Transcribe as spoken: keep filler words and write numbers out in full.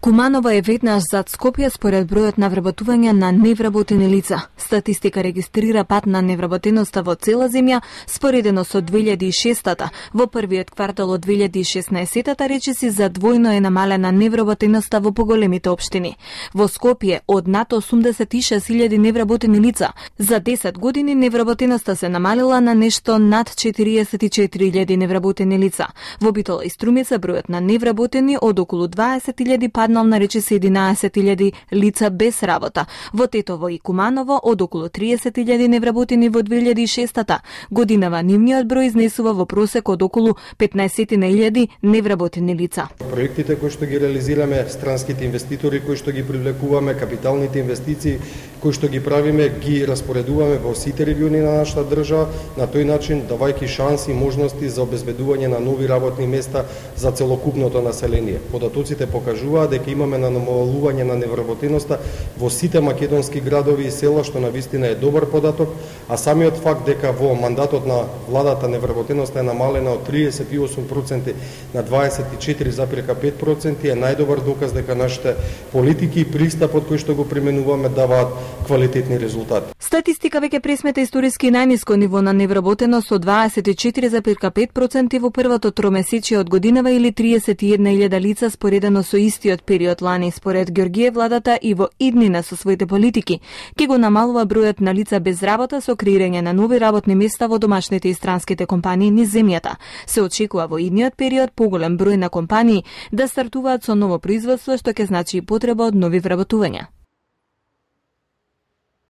Куманово е веднаш зад Скопје според бројот на вработување на невработени лица. Статистика регистрира пат на невработеноста во цела земја, споредено со две илјади и шестата. Во првиот квартал од две илјади и шеснаесетата речиси за двојно е намалена невработеноста во поголемите општини. Во Скопје од над осумдесет и шест илјади невработени лица. За десет години невработеноста се намалила на нешто над четириесет и четири илјади невработени лица. Во Битола и Струмица бројот на невработени од околу дваесет илјади паднал на речиси единаесет илјади лица без работа. Во Тетово и Куманово од околу триесет илјади невработени во две илјади и шестата годинава нивниот број изнесува во просек од околу петнаесет илјади невработени лица. Проектите кои што ги реализираме, странските инвеститори кои што ги привлекуваме, капиталните инвестиции кои што ги правиме, ги распоредуваме во сите региони на нашата држава, на тој начин давајќи шанси и можности за обезбедување на нови работни места за целокупното население. Податоците покажуваат дека имаме на намалување на невработеноста во сите македонски градови и села, што навистина е добар податок, а самиот факт дека во мандатот на владата невработеноста е намалена од триесет и осум проценти на дваесет и четири запирка пет проценти е најдобар доказ дека нашите политики и пристапот кој што го применуваме даваат квалитетни резултати. Статистика веќе пресмета историски најниско ниво на невработеност од дваесет и четири запирка пет проценти во првото тромесечие од годинава или триесет и една илјада лица споредено со истиот период лани. Според Ѓорѓиев, владата и во иднина со своите политики ќе го намалува бројот на лица без работа со креирање на нови работни места во домашните и странските компании низ земјата. Се очекува во идниот период поголем број на компании да стартуваат со ново производство, што ќе значи и потреба од нови вработувања.